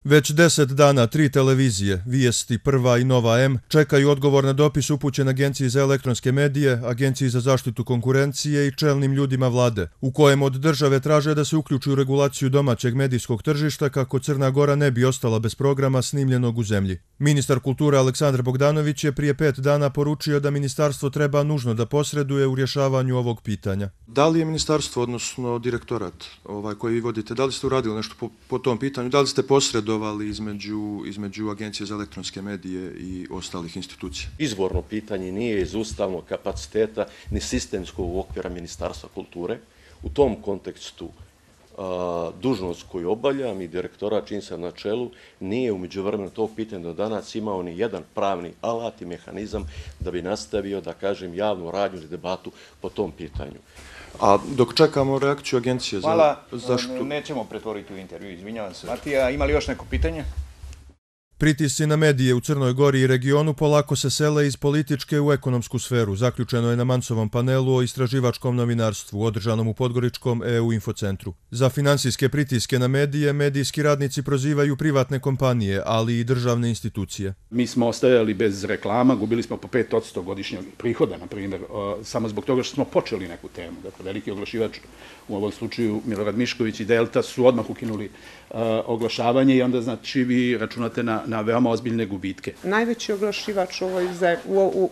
Već 10 dana 3 televizije, Vijesti, Prva i Nova M, čekaju odgovor na dopis upućen Agenciji za elektronske medije, Agenciji za zaštitu konkurencije i čelnim ljudima vlade, u kojem od države traže da se uključi u regulaciju domaćeg medijskog tržišta kako Crna Gora ne bi ostala bez programa snimljenog u zemlji. Ministar kulture Aleksandar Bogdanović je prije 5 dana poručio da ministarstvo treba nužno da posreduje u rješavanju ovog pitanja. Da li je ministarstvo, odnosno direktorat koji vi vodite, da li ste uradili nešto po tom pitanju, da li ste posredovali između Agencije za elektronske medije i ostalih institucija? Izvorno pitanje nije iz ustavnog kapaciteta ni sistemskog okvira Ministarstva kulture. U tom kontekstu dužnost koju obavljam i direktorat čim sam na čelu nije u međuvremenu tog pitanja do danas imao ni jedan pravni alat i mehanizam da bi nastavio, da kažem, javnu radnju ili debatu po tom pitanju. A dok čekamo reakciju Agencije za zaštitu... Hvala, nećemo pretvoriti u intervju, izvinjavam se. Matija, ima li još neko pitanje? Pritisci na medije u Crnoj Gori i regionu polako se sele iz političke u ekonomsku sferu, zaključeno je na Mancovom panelu o istraživačkom novinarstvu, održanom u Podgoričkom EU infocentru. Za finansijske pritiske na medije, medijski radnici prozivaju privatne kompanije, ali i državne institucije. Mi smo ostajali bez reklama, gubili smo po 5% godišnjeg prihoda, na primjer, samo zbog toga što smo počeli neku temu. Dakle, veliki oglašivač, u ovom slučaju Milorad Mišković i Delta, su odmah ukinuli oglašavanje i onda znači vi računate na veoma ozbiljne gubitke. Najveći oglašivač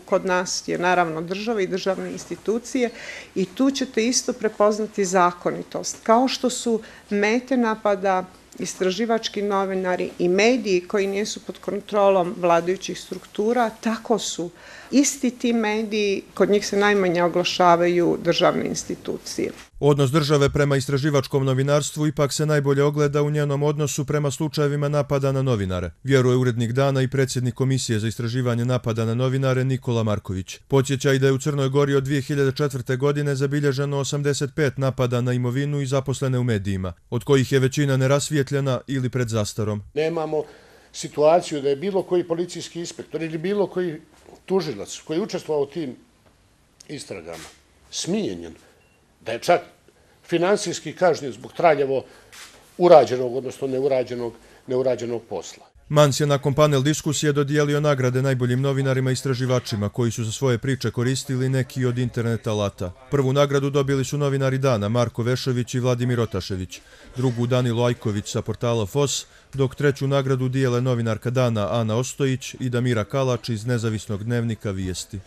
kod nas je naravno država i državne institucije i tu ćete isto prepoznati zakonitost. Kao što su mete napada istraživački novinari i mediji koji nisu pod kontrolom vladajućih struktura, tako su isti ti mediji, kod njih se najmanje oglašavaju državne institucije. Odnos države prema istraživačkom novinarstvu ipak se najbolje ogleda u njenom odnosu prema slučajevima napada na novinare, vjeruje urednik Dana i predsjednik Komisije za istraživanje napada na novinare Nikola Marković. Podsjeća i da je u Crnoj Gori od 2004. godine zabilježeno 85 napada na imovinu i zaposlene u medijima, od kojih je većina nerasvijetljena ili pred zastarom. Nemamo situaciju da je bilo koji policijski inspektor ili bilo koji tužilac koji je učestvovao u tim istragama smijenjen, da je čak finansijski kažnjen zbog traljavo urađenog, odnosno neurađenog posla. Mans je nakon panel diskusije dodijelio nagrade najboljim novinarima i istraživačima koji su za svoje priče koristili neki od internet alata. Prvu nagradu dobili su novinari Dana Marko Vešović i Vladimir Otašević, drugu Danilo Ajković sa portala FOS, dok treću nagradu dijele novinarka Dana Ana Ostojić i Damira Kalač iz nezavisnog dnevnika Vijesti.